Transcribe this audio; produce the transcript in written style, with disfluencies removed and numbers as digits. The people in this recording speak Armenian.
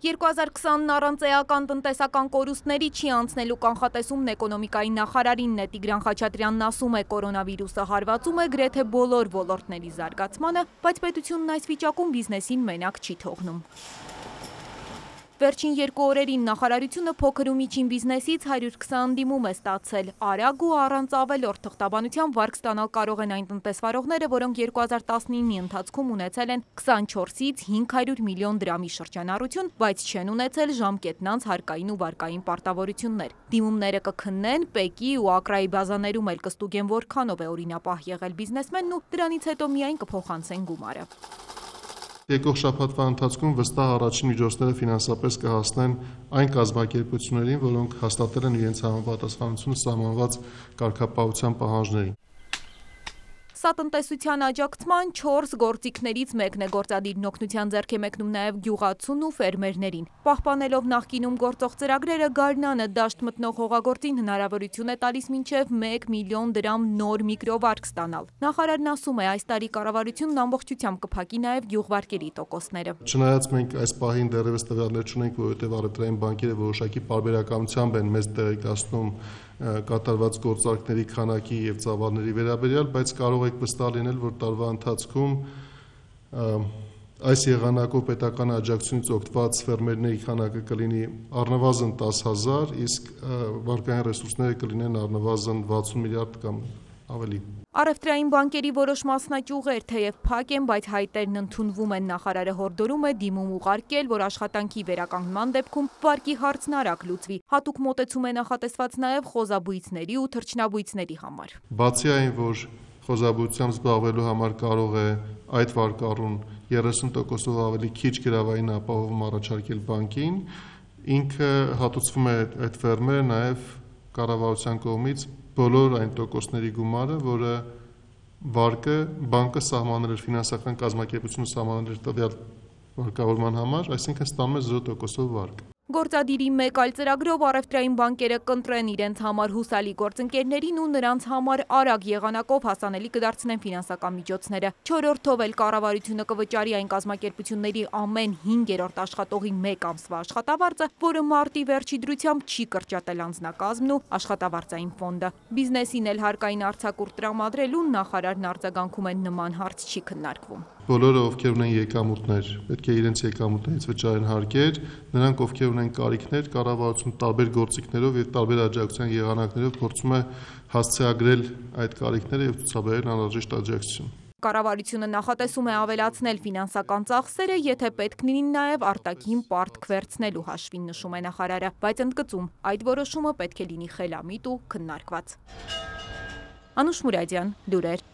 2020-ն առանց էական տնտեսական կորուստների չի անցնելու կանխատեսումն էկոնոմիկայի նախարարինն է։ Տիգրան Խաչատրյանն ասում է, կորոնավիրուսը հարվածում է գրեթե բոլոր ոլորտների զարգացմանը, բայց պետությունն այս վիճակում բիզնեսին մենակ չի թողնում։ Վերջին 2 օրերին նախարարությունը փոքր ու միջին բիզնեսից 120 ընդդիմում է ստացել։ Արագ ու առանց ավելորդ թղթաբանության վարկ ստանալ կարող են այն տնտեսվարողները, որոնք 2019-ի ընթացքում ունեցել են 24-ից 500 միլիոն դրամի շրջանառություն, բայց չեն ունեցել ժամկետնանց հարկային ու վարկային պարտավորություններ։ Դիմումները կքննեն, ՊԵԿ-ի ու ԱԿՐԱ-ի բազաներում էլ կստուգեն որքանով է օրինապահ եղել բիզնեսմենն ու դրանից հետո միայն կփոխանցեն գումարը։ Եկող շաբաթվա ընթացքում վստահ առաջին միջոցները ֆինանսապես կհասնեն այն կազմակերպություններին, որոնք հաստատել են իրենց համապատասխանությունը սահմանված կարգապահության պահանջներին։ Սա տնտեսության աջակցման 4 գործիքներից մեկն է, գործադիրն օգնության ձեռք է մեկնում նաև գյուղացուն ու ֆերմերներին։ Պահպանելով նախկինում գործող ծրագրերը, գարնանը դաշտ մտնող հողագործին հնարավորություն է տալիս մինչև 1 միլիոն դրամ նոր միկրովարկ ստանալ։ Նախարարն ասում է, այս տարի կառավարությունն ամբողջությամբ կփակի նաև գյուղվարկերի տոկոսները։ Չնայած մենք այս պահին դեռևս տվյալներ չունենք, որովհետև առևտրային բանկերը որոշակի պարբերականությամբ են մեզ տեղեկացնում կատարված գործարքների քանակի եւ ծավալների վերաբերյալ, բայց կարող եք վստահ լինել, որ տարվա ընթացքում այս եղանակով պետական աջակցությունից օգտված ֆերմերների քանակը կլինի առնվազն 10,000, իսկ վարկային ռեսուրսները կլինեն առնվազն 60 միլիարդ կամ ավելի։ Առևտրային բանկերի որոշ մասնաճյուղեր թեև փակ են, բայց հայտերն ընդունվում են։ Նախարարը հորդորում է դիմում ուղարկել, որ աշխատանքի վերականգնման դեպքում վարկի հարցն արագ լուծվի։ Հատուկ մոտեցում է նախատեսված նաև խոզաբույծների ու թռչնաբույծների համար։ Բացի այն, որ խոզաբույծությամբ զբաղվելու համար կարող է այդ վարկառուն 30%-ով ավելի քիչ գրավային ապահովում առաջարկել բանկին, ինքը հատուցվում է այդ ֆերմերը նաև կառավարության կողմից բոլոր այն տոկոսների գումարը, որը վարկը բանկը սահմանել էր, ֆինանսական կազմակերպությունը սահմանել էր տվյալ վարկավորման համար, այսինքն ստանում է 0%-ով վարկ։ Գործադիրի մեկ այլ ծրագրով առևտրային բանկերը կընտրեն իրենց համար հուսալի գործընկերներին ու նրանց համար արագ եղանակով հասանելի կդարձնեն ֆինանսական միջոցները։ 4-րդով էլ կառավարությունը կվճարի այն կազմակերպությունների ամեն 5-րդ աշխատողի 1 ամսվա աշխատավարձը, որը մարտի վերջի դրությամբ չի կրճատել անձնակազմն ու աշխատավարձային ֆոնդը։ Բիզնեսին էլ հարկային արձակուրդ տրամադրելուն նախարարն արձագանքում է նման հարց չի քննարկվում։ Բոլորը, ովքեր ունեն եկամուտներ, պետք է իրենց եկամուտներից վճարեն հարկեր, նրանք, ովքեր ունեն կարիքներ, կառավարությունը տարբեր գործիքներով եւ տարբեր աջակցության եղանակներով փորձում է հասցեագրել այդ կարիքները եւ ցուցաբերել անհրաժեշտ աջակցություն։ Կառավարությունը նախատեսում է ավելացնել ֆինանսական ծախսերը, եթե պետք լինի նաև արտաքին պարտք վերցնելու հաշվին, նշում է նախարարը, բայց ընդգծում, այդ որոշումը պետք է լինի խելամիտ ու քննարկված։ Անուշ Մուրադյան, լուրեր։